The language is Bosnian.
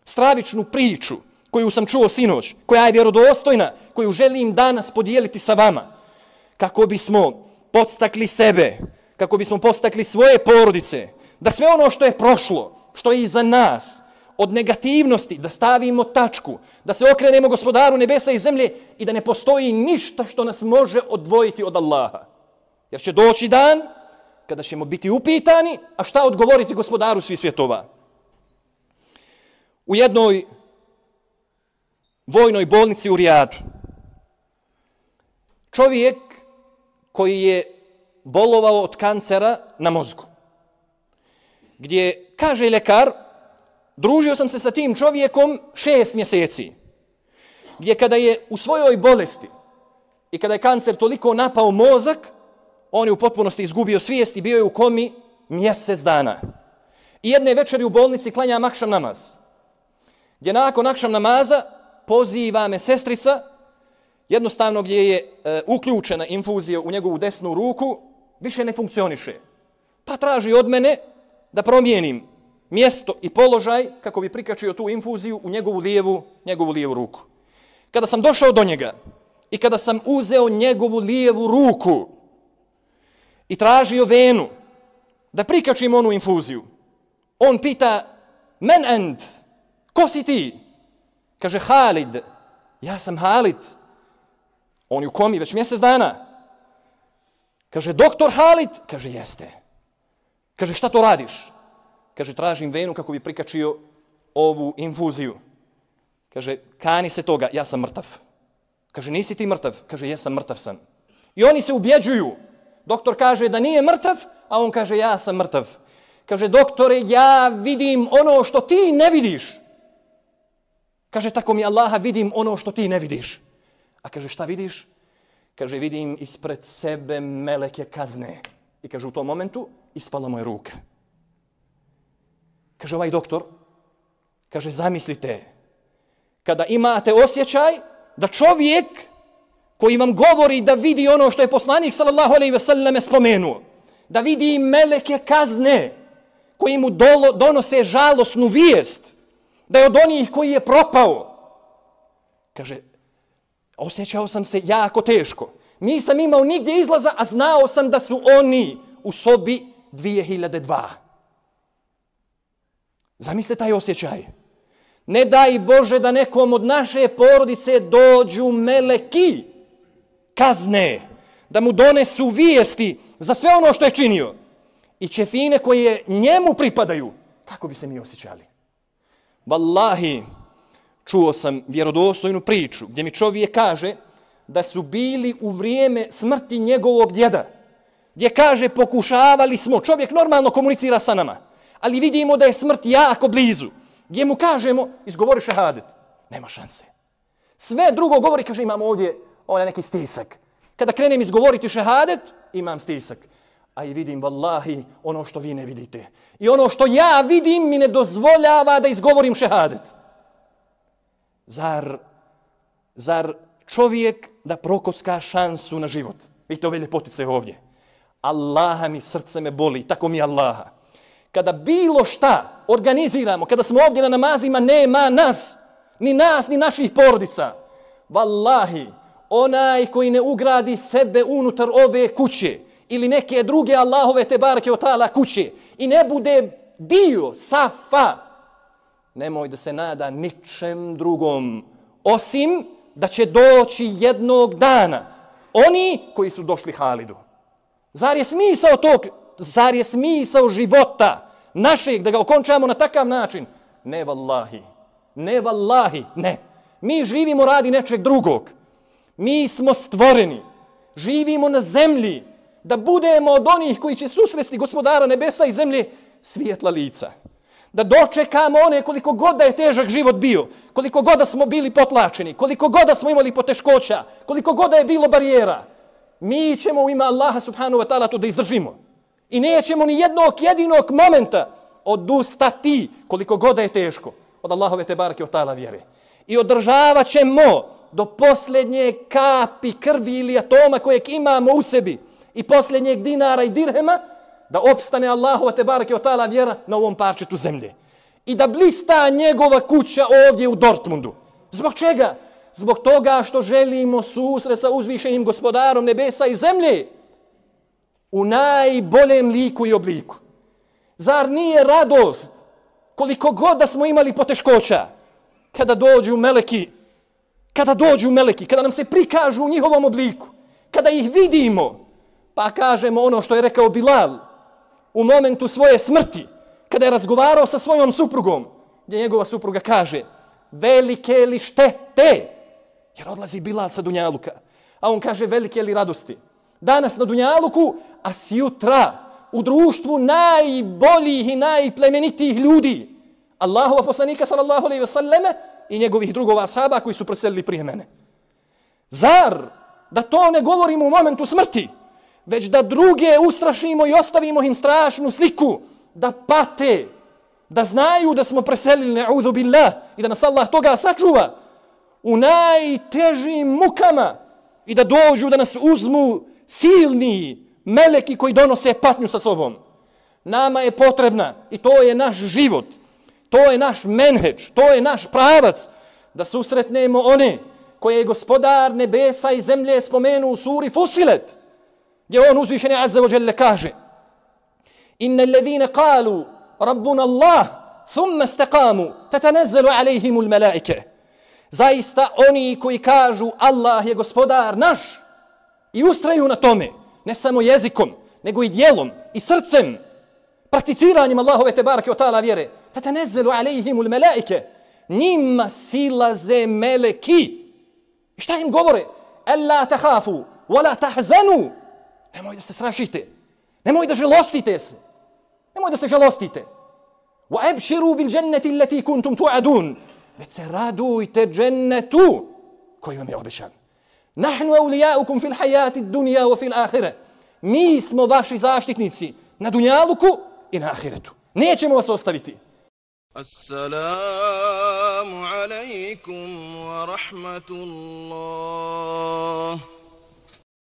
stravičnu priču koju sam čuo sinoć, koja je vjerodostojna, koju želim danas podijeliti sa vama, kako bismo podstakli sebe, kako bismo podstakli svoje porodice, da sve ono što je prošlo, što je iza nas, od negativnosti, da stavimo tačku, da se okrenemo Gospodaru nebesa i zemlje i da ne postoji ništa što nas može odvojiti od Allaha. Jer će doći dan kada ćemo biti upitani, a šta odgovoriti Gospodaru svih svjetova. U jednoj vojnoj bolnici u Rijadu čovjek koji je bolovao od kancera na mozgu, gdje kaže ljekar, družio sam se sa tim čovjekom 6 mjeseci, gdje kada je u svojoj bolesti i kada je kancer toliko napao mozak, on je u potpunosti izgubio svijest i bio je u komi mjesec dana. I jedne večeri u bolnici klanjam akšam namaz, gdje nakon akšam namaza poziva me sestrica, jednostavno gdje je uključena infuzija u njegovu desnu ruku, više ne funkcioniše. Pa traži od mene da promijenim mjesto i položaj kako bi prikačio tu infuziju u njegovu lijevu ruku. Kada sam došao do njega i kada sam uzeo njegovu lijevu ruku i tražio venu da prikačim onu infuziju, on pita, men ent, ko si ti? Kaže, Halid. Ja sam Halid. On je u komi već mjesec dana. Kaže, doktor Halid? Kaže, jeste. Kaže, šta to radiš? Kaže, tražim venu kako bi prikačio ovu infuziju. Kaže, kani se toga, ja sam mrtav. Kaže, nisi ti mrtav? Kaže, jesam, mrtav sam. I oni se ubjeđuju. Doktor kaže da nije mrtav, a on kaže, ja sam mrtav. Kaže, doktore, ja vidim ono što ti ne vidiš. Kaže, tako mi Allaha, vidim ono što ti ne vidiš. A kaže, šta vidiš? Kaže, vidim ispred sebe meleke kazne. I kaže, u tom momentu ispala moja ruka. Kaže, ovaj doktor, kaže, zamislite, kada imate osjećaj da čovjek koji vam govori da vidi ono što je poslanik sallallahu alejhi ve selleme spomenuo, da vidi meleke kazne koji mu donose žalosnu vijest, da je od onih koji je propao. Kaže, osjećao sam se jako teško. Nisam imao nigdje izlaza, a znao sam da su oni u sobi 2002. Zamislite taj osjećaj. Ne daj Bože da nekom od naše porodice dođu meleki kazne, da mu donesu vijesti za sve ono što je činio i ćefine koje njemu pripadaju. Kako bi se mi osjećali? Wallahi, čuo sam vjerodostojnu priču gdje mi čovjek kaže da su bili u vrijeme smrti njegovog djeda, gdje kaže pokušavali smo, čovjek normalno komunicira sa nama, ali vidimo da je smrt jako blizu, gdje mu kažemo izgovori šehadet, nema šanse. Sve drugo govori, kaže imam ovdje neki stisak. Kada krenem izgovoriti šehadet, imam stisak. A i vidim, wallahi, ono što vi ne vidite. I ono što ja vidim mi ne dozvoljava da izgovorim šehadet. Zar čovjek da prokocka šansu na život? Vidite ove ljepotice ovdje. Allaha mi, srce me boli, tako mi Allaha. Kada bilo šta organiziramo, kada smo ovdje na namazima, nema nas, ni naših porodica. Wallahi, onaj koji ne ugradi sebe unutar ove kuće ili neke druge Allahove tebareke ve taala kuće i ne bude dio safa, nemoj da se nada ničem drugom, osim da će doći jednog dana oni koji su došli Halidu. Zar je smisao života našeg da ga okončamo na takav način? Ne vallahi, ne vallahi, ne. Mi živimo radi nečeg drugog. Mi smo stvoreni, živimo na zemlji da budemo od onih koji će susresti Gospodara nebesa i zemlje svijetla lica. Da dočekamo one koliko god da je težak život bio, koliko god da smo bili potlačeni, koliko god da smo imali poteškoća, koliko god da je bilo barijera. Mi ćemo u ime Allaha subhanahu wa ta'ala to da izdržimo. I nećemo ni jednog jedinog momenta odustati koliko god da je teško od Allahove tebareke ve taala vjere. I održavat ćemo do posljednje kapi krvi ili atoma kojeg imamo u sebi i posljednjeg dinara i dirhema da opstane Allahova tebareke ve taala vjera na ovom parčetu zemlje. i da blista njegova kuća ovdje u Dortmundu. Zbog čega? Zbog toga što želimo susret sa uzvišenim gospodarom nebesa i zemlje u najboljem liku i obliku. Zar nije radost koliko god da smo imali poteškoća kada dođu meleki, kada nam se prikažu u njihovom obliku, kada ih vidimo, pa kažemo ono što je rekao Bilal u momentu svoje smrti, kada je razgovarao sa svojom suprugom, gdje njegova supruga kaže: velike li štete, jer odlazi Bilal sa dunjaluka, a on kaže: velike li radosti. Danas na dunjaluku, a sjutra u društvu najboljih i najplemenitijih ljudi, Allahova poslanika sallallahu alejhi ve selleme i njegovih drugova ashaba koji su preselili prije mene. Zar da to ne govorimo u momentu smrti, već da druge ustrašimo i ostavimo im strašnu sliku, da pate, da znaju da smo preselili, ne'udhu billah, i da nas Allah toga sačuva u najtežim mukama i da dođu da nas uzmu silni meleki koji donose patnju sa sobom. Nama je potrebna, i to je naš život, to je naš menheđ, to je naš pravac, da susretnemo one koje je gospodar nebesa i zemlje spomenuo u suri Fusilet, gdje on uzvišeni azza wa jalla kaže: inna alladhina qalu rabbuna Allah thumma istaqamu tatanazzalu alayhim almalaika. Zaista oni koji kažu Allah je gospodar naš i ustraju na tome, ne samo jezikom, nego i djelom i srcem, prakticiranjem Allahove tebareke ve taala vjere, tatanazzalu alayhim almalaika, njima silaze meleki. I šta im govore? Alla takhafu wala tahzanu. Nemoj da se strašite, nemoj da žalostite se, nemoj da se žalostite. Wa abshiru bil jannati allati kuntum tu'adun. Već se radujte džennetu koji vam je obećan. Nahnu awliyaukum fil hayati ad-dunya wa fil akhirah. Mi smo vaši zaštitnici na dunjaluku i na ahiretu. Nećemo vas ostaviti. Assalamu alaikum wa rahmatullah.